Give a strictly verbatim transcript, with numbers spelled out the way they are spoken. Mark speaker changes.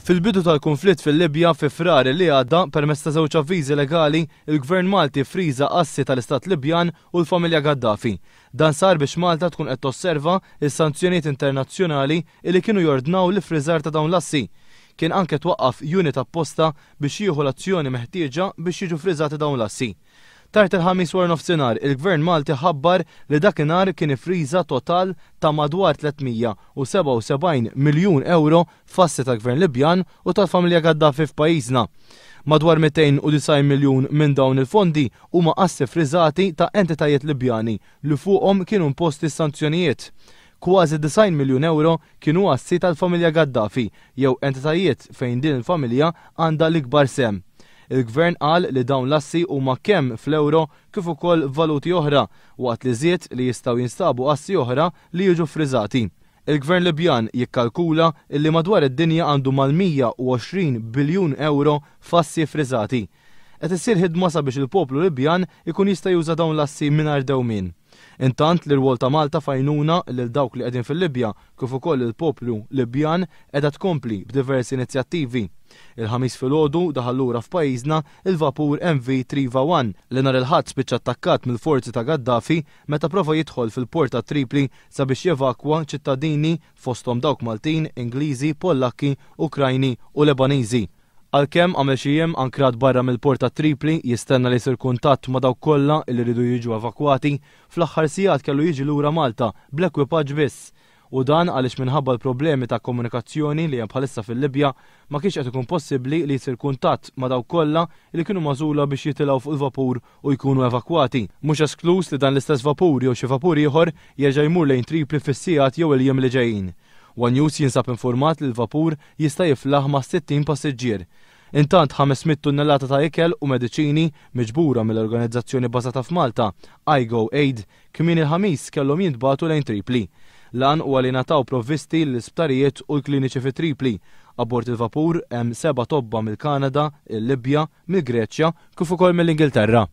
Speaker 1: Fil-bidu tal-kunflitt fil-Libja fi Frar li għadda, permezz ta' żewġ avviżi legali, il-Gvern Malti friża assi tal-Istat Libjan u l-familja Gaddafi. Dan sar biex Malta tkun qed tosserva s-sanzjonijiet internazzjonali li kienu jordnaw l-iffriżar ta' dawn l-assi. Kien anke twaqqaf unit apposta biex jieħu l-azzjoni meħtieġa biex jiġu friżati dawn l-assi. Tard il-Ħamis wara nofsinhar, il-Gvern Malti ħabbar li dakinhar kien iffriża total ta' madwar tliet mija u sebgħa u sebgħin miljun ewro f'assi tal-Gvern Libjan u tal-familja Gaddafi f'pajjiżna. Madwar mitejn u disgħin miljun minn dawn il-fondi huma assi friżati ta' entitajiet Libjani li fuqhom kienu imposti sanzjonijiet. Kważi disgħin miljun ewro kienu assi tal-familja Gaddafi jew entitajiet fejn din il-familja għandha l-ikbar sehem. Il-Gvern qal li dawn l-assi huma kemm fl-euro kif ukoll valuti oħra, waqt li żied li jistgħu jinstabu assi oħra li jiġu friżati. Il-Gvern Libjan jikkalkula li madwar id-dinja għandu mal-mija u għoxrin biljun euro f'assi friżati. Qed issir ħidma sabiex il-poplu Libjan ikun jista' juża dawn l-assi mingħajr dewmien. Intant l-irwol ta' Malta fajnuna lil dawk li qegħdin fil-Libja kif ukoll il-poplu Libjan qiegħda tkompli b'diversi inizjattivi. Il-Ħamis filgħodu daħal lura f'pajjiżna il-vapur M V Triva one li nhar il-Ħadd spiċċa attakkat mill-forzi ta' Gaddafi meta prova jidħol fil-port ta' Tripli sabiex jevakwa ċittadini fosthom dawk Maltin, Ingliżi, Pollakki, Ukrajni u Lebaniżi. Għalkemm għamel xi jiem ankrat barra mill-port ta' Tripli jistenna li jsir kuntatt ma' dawk kollha li rridu jiġu evakwati, fl-aħħar sigħat kellu jiġi lura Malta bl-ekwipaġġ biss. U dan għaliex minħabba l-problemi ta' komunikazzjoni li hemm bħalissa fil-Libja ma kienx qed ikun possibbli li jsir kuntatt ma' dawk kollha li kienu magħżula biex jitilgħu fuq il-vapur u jkunu evakwati. Mhux esklus li dan l-istess vapur jew xi vapur ieħor jerġa' jmur lejn Tripli fis-sigħat jew il-jiem li ġejjin. One News jinsab informat li l-vapur jista' jiflaħ ma' sittin passiġġier. Intant ħames mitt tunnellata ta' ikel u mediċini miġbura mill-organizzazzjoni bażata f'Malta, iGo Aid, kmieni il-Ħamis kellhom jintbagħtu lejn Tripli. Lan huwa li ngħataw provvisti l-isptarijiet u l-kliniċi fi Tripli. Abbord il-vapur hemm seba' tobba mill-Kanada, il-Libja, mill-Greċja kif ukoll mill-Ingilterra.